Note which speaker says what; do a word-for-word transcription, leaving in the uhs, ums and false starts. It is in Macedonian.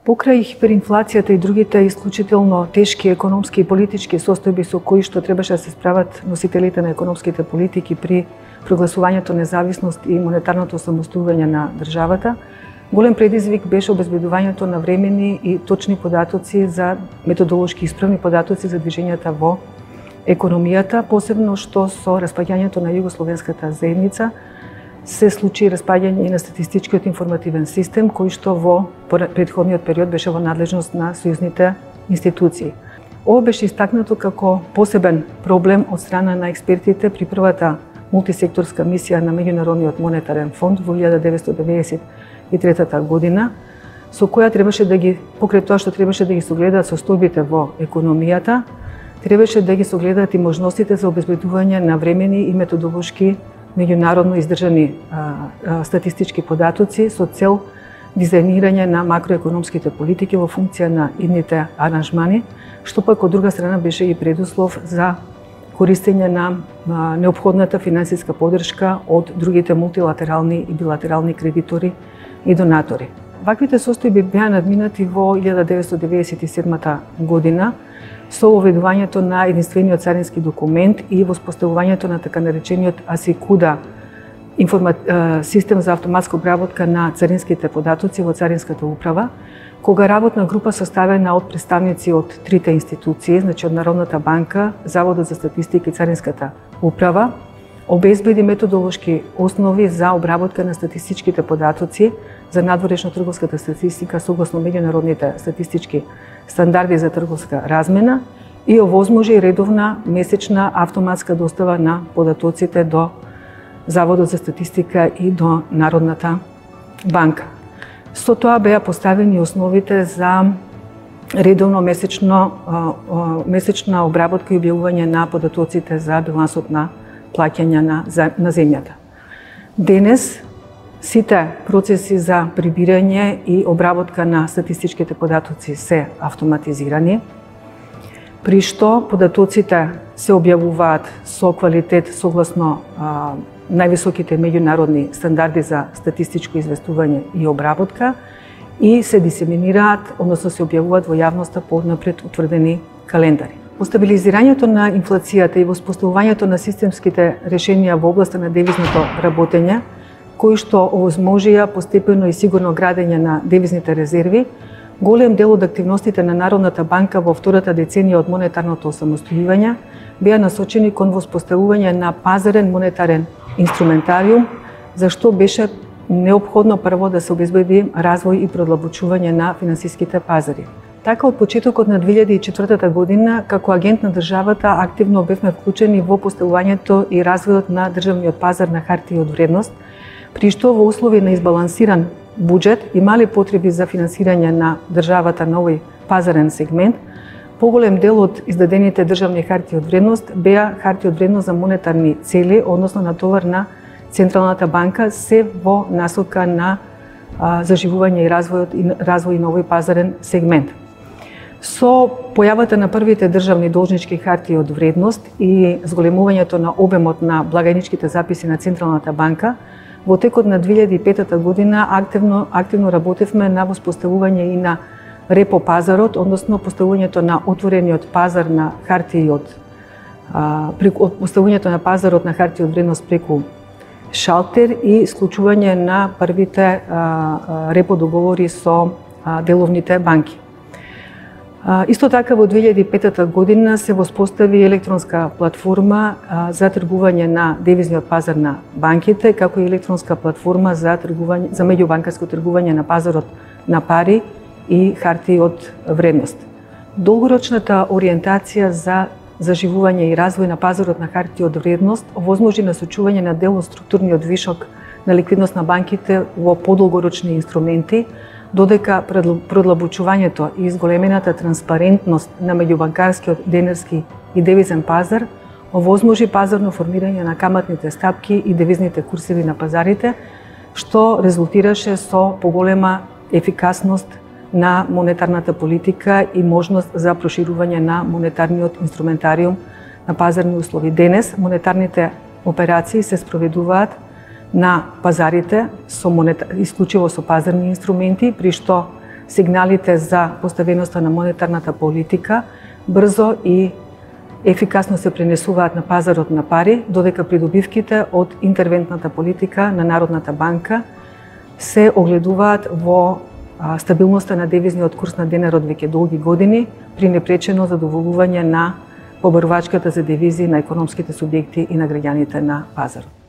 Speaker 1: Покрај хиперинфлацијата и другите исклучително тешки економски и политички состојби со кои што требаше да се справат носителите на економските политики при прогласувањето независност и монетарното самостојување на државата, голем предизвик беше обезбедувањето на времени и точни податоци за методолошки исправни податоци за движењата во економијата, посебно што со распаѓањето на југословенската заедница се случи распаѓање и на статистичкиот информативен систем, кој што во претходниот период беше во надлежност на сојузните институции. Ова беше истакнато како посебен проблем од страна на експертите при првата мултисекторска мисија на Меѓународниот монетарен фонд во илјада деветстотини деветдесет и трета година, со која требаше да ги, покрај тоа што требаше да ги согледаат состојбите во економијата, требаше да ги согледаат и можностите за обезбедување на времени и методолошки меѓународно издржани а, а, статистички податоци со цел дизајнирање на макроекономските политики во функција на идните аранжмани, што пак од друга страна беше и предуслов за користење на а, неопходната финансиска поддршка од другите мултилатерални и билатерални кредитори и донатори. Ваквите состојби беа надминати во илјада деветстотини деветдесет и седма година со уведувањето на единствениот царински документ и воспоставувањето на така наречениот АСИКУДА информа... систем за автоматска обработка на царинските податоци во Царинската управа, кога работна група составена од представници од трите институции, значи од Народната банка, Заводот за статистика и Царинската управа, обезбеди методолошки основи за обработка на статистичките податоци за надворешно трговската статистика согласно меѓународните статистички стандарди за трговска размена и овозможи редовна месечна автоматска достава на податоците до Заводот за статистика и до Народната банка. Со тоа беа поставени основите за редовно месечно, месечна обработка и објавување на податоците за билансот на плаќања на, на земјата. Денес сите процеси за прибирање и обработка на статистичките податоци се автоматизирани, при што податоците се објавуваат со квалитет согласно а, највисоките меѓународни стандарди за статистичко известување и обработка и се дисеминираат, односно се објавуваат во јавноста по однапред утврдени календари. По стабилизирањето на инфлацијата и воспоставувањето на системските решенија во областа на девизното работење, кои што овозможија постепено и сигурно градење на девизните резерви, голем дел од активностите на Народната банка во втората деценија од монетарното самостојување беа насочени кон воспоставување на пазарен монетарен инструментариум, за што беше неопходно прво да се обезбеди развој и продлабочување на финансиските пазари. Така, од почетокот на две илјади и четвртата година, како агент на државата, активно бевме вклучени во поставувањето и развојот на државниот пазар на хартии од вредност, при што во услови на избалансиран буџет и мали потреби за финансирање на државата на овој пазарен сегмент, поголем дел од издадените државни хартии од вредност беа хартии од вредност за монетарни цели, односно на товар на Централната банка, се во насока на а, заживување и развојот и развој на овој пазарен сегмент. Со појавата на првите државни должнички хартии од вредност и зголемувањето на обемот на благајничките записи на Централната банка, во текот на две илјади и петта година активно, активно работевме на воспоставување и на репо пазарот, односно поставувањето на отворениот пазар на хартии од а, преку поставувањето на пазарот на хартии од вредност преку шалтер и склучување на првите а, а, репо договори со а, деловните банки. А, исто така во две илјади и петта година се воспостави електронска платформа а, за тргување на девизниот пазар на банките, како и електронска платформа за тргување за меѓубанкарско тргување на пазарот на пари и хартии од вредност. Долгорочната ориентација за заживување и развој на пазарот на хартии од вредност овозможи насочување на дел од структурниот вишок на ликвидност на банките во подолгорочни инструменти, додека продлабочувањето и изголемената транспарентност на меѓубанкарскиот денарски и девизен пазар овозможи пазарно формирање на каматните стапки и девизните курсеви на пазарите, што резултираше со поголема ефикасност на монетарната политика и можност за проширување на монетарниот инструментариум на пазарни услови. Денес монетарните операции се спроведуваат на пазарите со монета... исклучиво со пазарни инструменти, при што сигналите за поставеноста на монетарната политика брзо и ефикасно се пренесуваат на пазарот на пари, додека придобивките од интервентната политика на Народната банка се огледуваат во стабилноста на девизниот курс на денарот веќе долги години при непречено задоволување на побарувачката за девизи на економските субјекти и на граѓаните на пазарот.